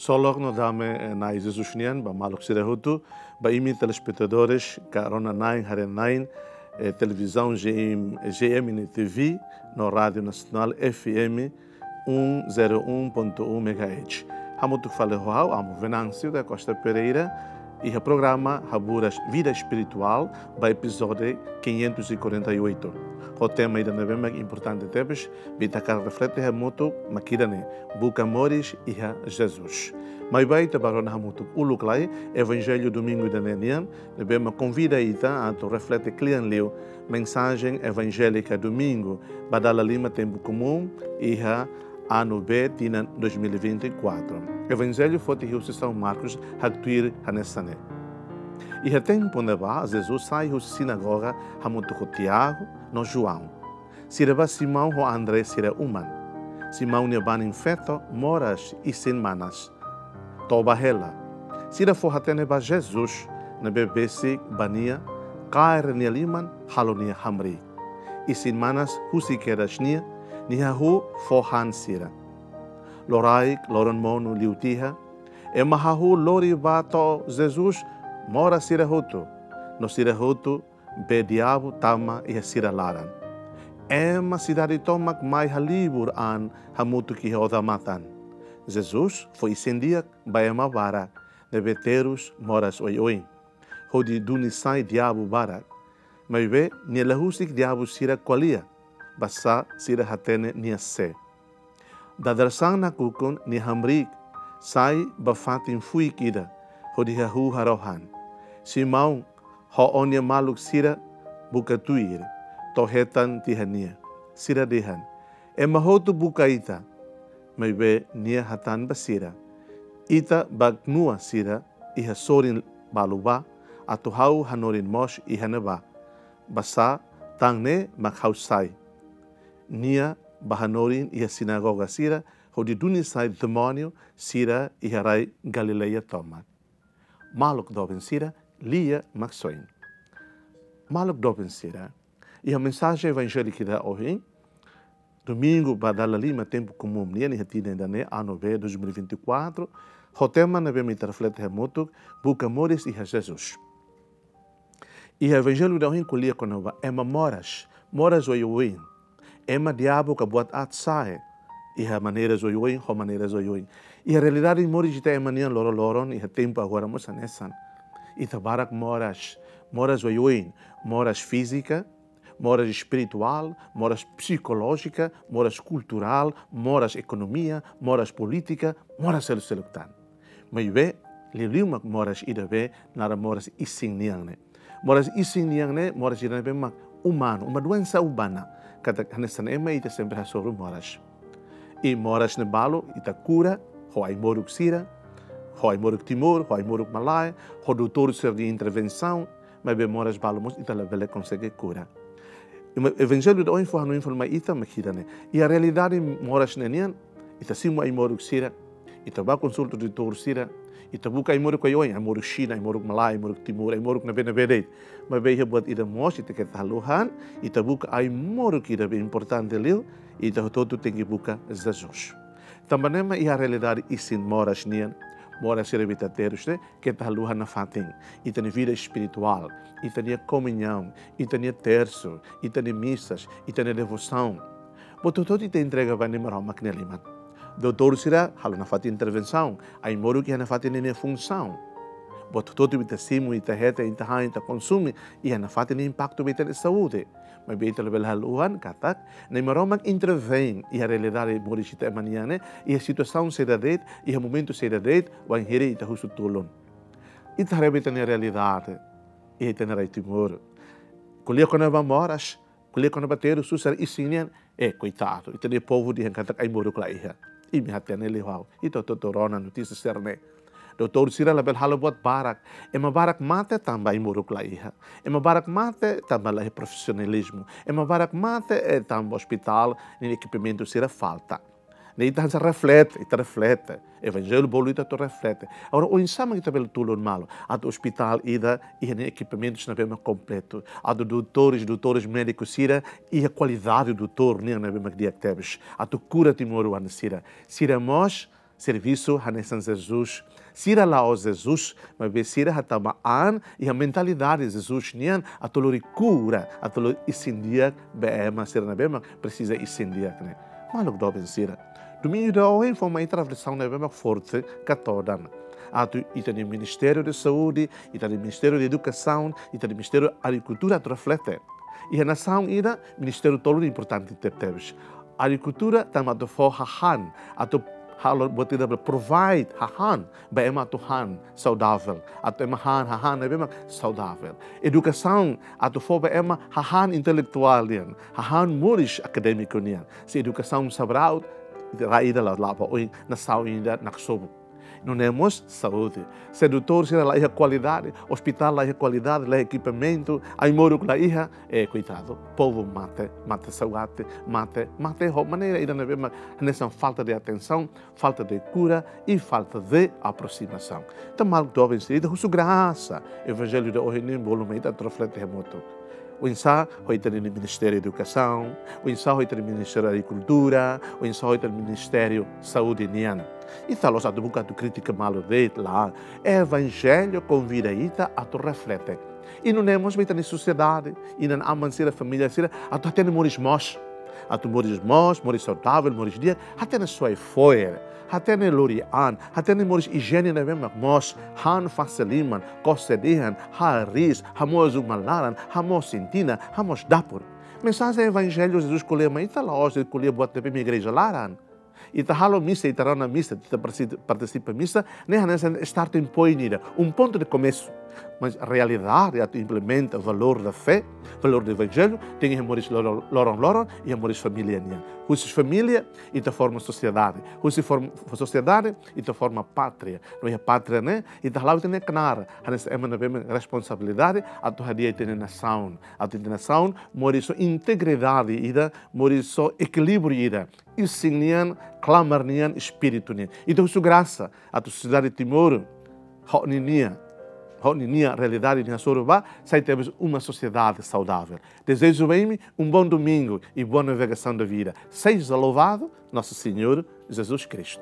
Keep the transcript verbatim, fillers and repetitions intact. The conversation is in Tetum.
Ksolok no dame, eh, Na'i Jesus nian ba maluk sira hotu, ba imi telespetadores ka rona-na'in haree-na'in, eh, televizaun G M, G M N T V no Rádiu Nasionál F M um zero um ponto um megahertz. Hamutuk fali ho ha'u, Amo Venâncio da Costa Pereira, iha programa Haburas Vida Espirituál, ba epizódiu quinhentos e quarenta e oito. Ho tema ida ne'ebé mak importante tebes, ita hakarak reflete hamutuk mak ida-ne'e, buka moris iha Jesus. Maibé ita bá rona hamutuk uluk lai, Evanjellu Domingu ida-ne'e nian, ne'ebé mak konvida ita atu reflete kle'an liu, mensajen evanjélika Domingu, ba dala lima tempu komún, iha ano B tinan dois mil e vinte e quatro. Evanjellu foti husi São Marcos haktuir hanesan ne'e. Iha tempu ne'ebá, Jesus sai husi sinagoga hamutuk ho Tiago no João. Sira bá Simão ho André sira uma. Simão nia banin-feto moras isin-manas. Toba hela. Sira fó-hatene ba Jesus, ne'ebé besik ba nia, kaer nia liman, halo nia hamriik. Isin-manas husik kedas nia, nia hahú fó han sira. Loraik, loron monu liu tiha, ema hahú lori bá to'o Jesus moras sira hotu, no sira hotu bee diabu tama iha sira laran. Ema sidade tomak mai halibur an hamutuk iha odamatan. Jesus fó isin-di'ak ba ema barak ne'ebé terus moras oioin, hodi duni sai diabu barak. Maibé nia la husik diabu sira ko'alia, basá sira hatene nia sé. Dadeer-saan nakukun nia hamriik, sai ba fatin fuik ida, hodi hahú harohan. Simão ho ó-nia maluk sira buka tuir, to'o hetan tiha nia. Sira dehan: "Ema hotu buka ita." Maibé nia hatán ba sira: "Ita bá knua sira iha sorin balu bá, atu ha'u hanorin mós iha ne'ebá. Basá tan ne'e mak ha'u sai." Nia bá hanorin iha sinagoga sira, hodi duni sai demóniu sira iha rai Galileia tomak. Maluk doben sira, Lia Maksoin. Maluk doben sira, iha mensajen evanjélika ida ohin, Domingu ba dala lima tempu komún nian iha tinan ida-ne'e, ano B dois mil e vinte e quatro, ho tema ne'ebé mak ita reflete hamutuk, buka moris iha Jesus. Iha evanjellu ida ohin ko'alia kona-ba ema moras, moras oioin. Ema diabu ka buat aat sa'e iha maneiras oioin, ho maneiras oioin. Iha realidade moris ita ema nian loroloron, iha tempu agora mós hanesan. Ita barak moras, moras oioin, moras fízika, moras espirituál, moras psikolójika, moras kulturál, moras ekonomia, moras polítika, moras seluk-seluk tan. Maibé, liuliu mak moras ida be naran moras isin nian ne'e. Moras isin nian ne'e, moras ida ne'ebé mak umanu, uma doensa umana. Katak hanesan ema ita sempre hasoru moras. I moras ne'e balu, ita kura, ho ai-moruk sira, ho ai-moruk Timor, ho ai-moruk malae, ho doutór sira-nia intervensaun, maibé moras balu mós ita labele konsege kura. Ema, evanjellu ida ohin fó hanoin fali mai ita mak ida-ne'e. Iha realidade moras ne'e nian, ita simu ai-moruk sira, ita bá konsulta doutór sira, ita buka ai-moruk oioin, ai-moruk Xina, ai-moruk malae, ai-moruk Timor, ai-moruk ne'ebé-ne'ebé de'it. Maibé iha buat ida mós ita keta haluha, ita buka ai-moruk ida be importante liu, ita hotu-hotu tenke buka Jesus. Tanba ne'e mak iha realidade isin moras nian, moras sira be ita terus ne'e, keta haluha nafatin. Ita-nia vida espirituál, ita-nia komuñaun, ita-nia tersu, ita-nia misas, ita-nia devosaun. Buat hotu-hotu ita entrega ba Nai Maromak nia liman. Doutór sira halo nafatin intervensaun, ai-moruk iha nafatin ninia funsaun. Buat hotu-hotu ita simu, ita hetan, ita han, ita konsume, iha nafatin nia impaktu ba ita-nia saúde. Maibé ita labele haluha katak Nai Maromak intervein iha realidade moris ita ema nian ne'e, iha situasaun saida de'it, iha momentu saida de'it, wainhira ita husu tulun. Ita haree ba ita-nia realidade iha ita-nia rai Timor. Ko'alia kona-ba moras, ko'alia kona-ba terus susar isin nian, eh, koitadu, ita-nia povu dehan katak ai-moruk la iha. Imi hatene liu ha'u, ita hotu-hotu rona notísia sira-ne'e. Doutór sira labele halo buat barak. Ema barak mate tanba ai-moruk la iha. Ema barak mate tanba la iha profisionalizmu. Ema barak mate, eh, tanba ospitál nia ekipamentu sira falta. Ne'e ita hanesan reflete, ita reflete. Evanjellu bolu ita atu reflete. Agora, oinsá mak ita bele tulun malu atu ospitál ida iha nia ekipamentus ne'ebé mak kompletu. Atu doutores, doutores médikus sira iha kualidade doutór nian ne'ebé mak di'ak tebes. Atu kura timoroan sira. Sira mós servisu hanesan Jesus. Sira la'ós Jesus, maibé sira hatama an iha mentalidade Jesus nian atu lori kura, atu lori isin-di'ak ba ema sira ne'ebé mak presiza isin-di'ak ne'e. Maluk doben sira, domingu ida ohin fó mai ita reflesaun ne'ebé mak forte ka todan. Atu ita-nia Ministériu Saúde, ita-nia Ministériu Edukasaun, ita-nia Ministériu Agrikultura atu reflete. Iha nasaun ida, ministériu tolu ne'e importante tebetebes. Agrikultura tama atu fó hahán, atu halo buat ida bele provide hahán ba ema atu han saudavel, atu ema han hahán ne'ebé mak saudavel. Edukasaun atu fó ba ema hahán intelektuál nian, hahán moris akadémiku nian. Se edukasaun sabraut, rai ida la, la ba oin, nasaun ida naksobu. Nune'e mós saúde. Se doutór sira la iha kualidade, ospitál la iha kualidade, la iha ekipamentu, ai-moruk la iha, eh, koitadu, povu mate, mate saugati, mate, mate ho maneira ida ne'ebé mak hanesan falta de atensaun, falta de kura i falta de aproximasaun. Entaun maluk doben sira, ita husu grasa, Evanjellu ida ohin ne'e bolu mai ita atu reflete hamutuk. Oinsá ho ita-nia Ministériu Edukasaun, oinsá ho ita-nia Ministériu Agrikultura, oinsá ho ita-nia Ministériu Saúde nian. Ita la'ós atu buka atu kritika malu de'it, lae. Evanjellu konvida ita atu reflete. I nune'e mós ba ita-nia sosiedade, inan-aman sira, família sira, atu hatene moris moos. Atu moris moos, moris saudavel, moris di'ak, hatene soe fo'er, hatene lori an, hatene moris ijiene ne'ebé mak moos, han fase liman, kose dehan, hariis, hamoos uma laran, hamoos isin-tinan, hamoos dapur. Mensajen Evanjellu Jesus ko'alia mai ita la'ós de'it ko'alia buat ne'ebé mak igreja laran. Ita halo misa, ita rona misa, ita parsi-, partisipa misa, ne'e hanesan starting point ida, um ponto de começo. Mas realidade atu implementa valór da fé, valór do Evanjellu, tenke iha moris loron, loron-loron, iha moris família nian. Husi família, ita forma sosiedade. Husi form-, sosiedade, ita forma pátria. No iha pátria ne'e, ita hala'o ita-nia knaar, hanesan ema ne'ebé mak responsabilidade, atu hadi'a ita-nia nasaun. Atu ita-nia nasaun, moris ho integridade ida, moris ho ekilíbriu ida. Isin nian, klamar nian, espíritu nian. Ita husu grasa, atu sosiedade Timor, ho ninia, ho ninia realidade nia hasoru ba, sai tebes uma sociedade saudável. Desejo ba imi um bom domingo e boa navegação da vida. Seja louvado nosso Senhor Jesus Cristo.